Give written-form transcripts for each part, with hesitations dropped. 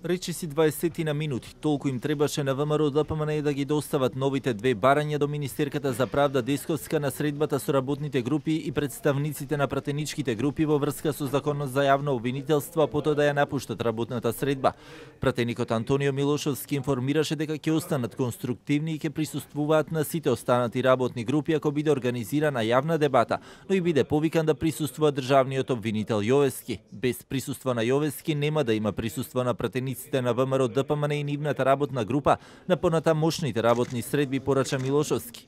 Речиси 20 на минути, толку им требаше на ВМРО ДПМН да ги достават новите две барања до Министерката за правда Десковска на средбата со работните групи и представниците на пратеничките групи во врска со законот за јавно обвинителство, а потоа да ја напуштат работната средба. Пратеникот Антонио Милошовски информираше дека ќе останат конструктивни и ќе присуствуваат на сите останати работни групи ако биде организирана јавна дебата, но и биде повикан да присуствува државниот обвинител Јовевски. Без присуство на Јовевски нема да има присуство на пратениците на ВМРО ДПМН и нивната работна група на понатамошните работни средби, порача Милошовски.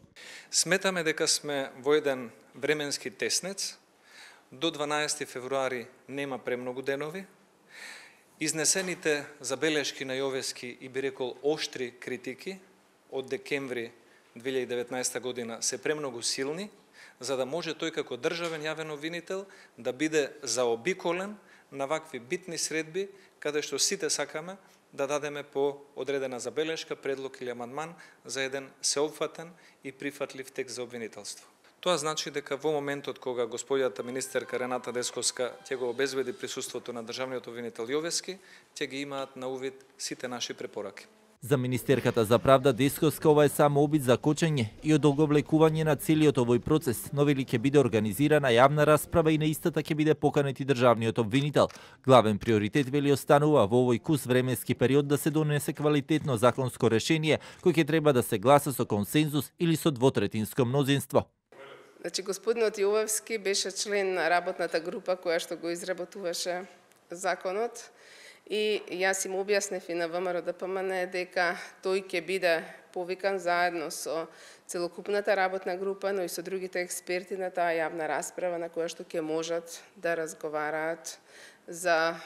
Сметаме дека сме во еден временски теснец. До 12 февруари нема премногу денови. Изнесените забелешки на Јовевски и би рекол оштри критики од декември 2019 година се премногу силни, за да може тој како државен јавен обвинител да биде заобиколен на вакви битни средби, каде што сите сакаме да дадеме по одредена забелешка, предлог или амандман за еден сеопфатен и прифатлив текст за обвинителство. Тоа значи дека во моментот кога господјата министерка Рената Десковска ќе го обезбеди присуството на државниот обвинител Јовевски, ќе ги имаат на увид сите наши препораки. За министерката за правда Десковска ова е само обид за кочење и одолговлекување на целиот овој процес, но вели ќе биде организирана јавна расправа и на истата ќе биде поканет и државниот обвинител. Главен приоритет вели останува во овој кус временски период да се донесе квалитетно законско решение кој ќе треба да се гласа со консензус или со двотретинско мнозинство. Значи, господинот Јовевски беше член на работната група која што го изработуваше законот. И јас им објаснев и на ВМРО ДПМН дека тој ќе биде повикан заедно со целокупната работна група, но и со другите експерти на таа јавна расправа на која што ќе можат да разговараат за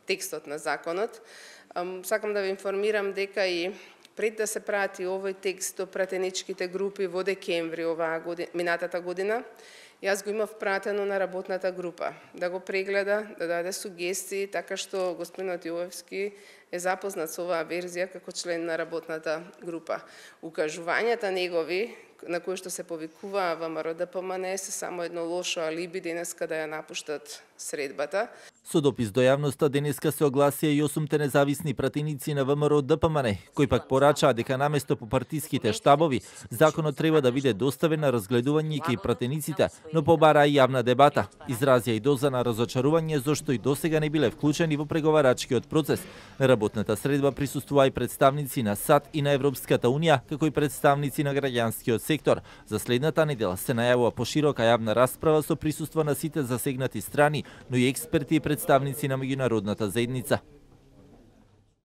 текстот на законот. Сакам да ве информирам дека и пред да се прати овој текст до пратеничките групи во декември минатата година, јас го имав пратено на работната група да го прегледа, да даде сугестии, така што господинот Јовевски е запознат со оваа верзија како член на работната група. Укажувањата негови, на кои што се повикуваа ВМРО ДПМН, се само едно лошо алиби денеска да ја напуштат средбата. Со допис до јавноста денеска се огласија и 8 независни пратеници на ВМРО ДПМН, кои пак порачаа дека наместо по партиските штабови, законот треба да биде доставен на разгледување кај пратениците, но побараа и јавна дебата. Изразија и доза на разочарување зашто и досега не биле вклучени во преговарачкиот процес. На работната средба присуствуваа и представници на САД и на Европската унија, како и представници на граѓанскиот сектор. За следната недела се најавува поширока јавна расправа со присуство на сите засегнати страни, но и експерти и представници на меѓународната заедница.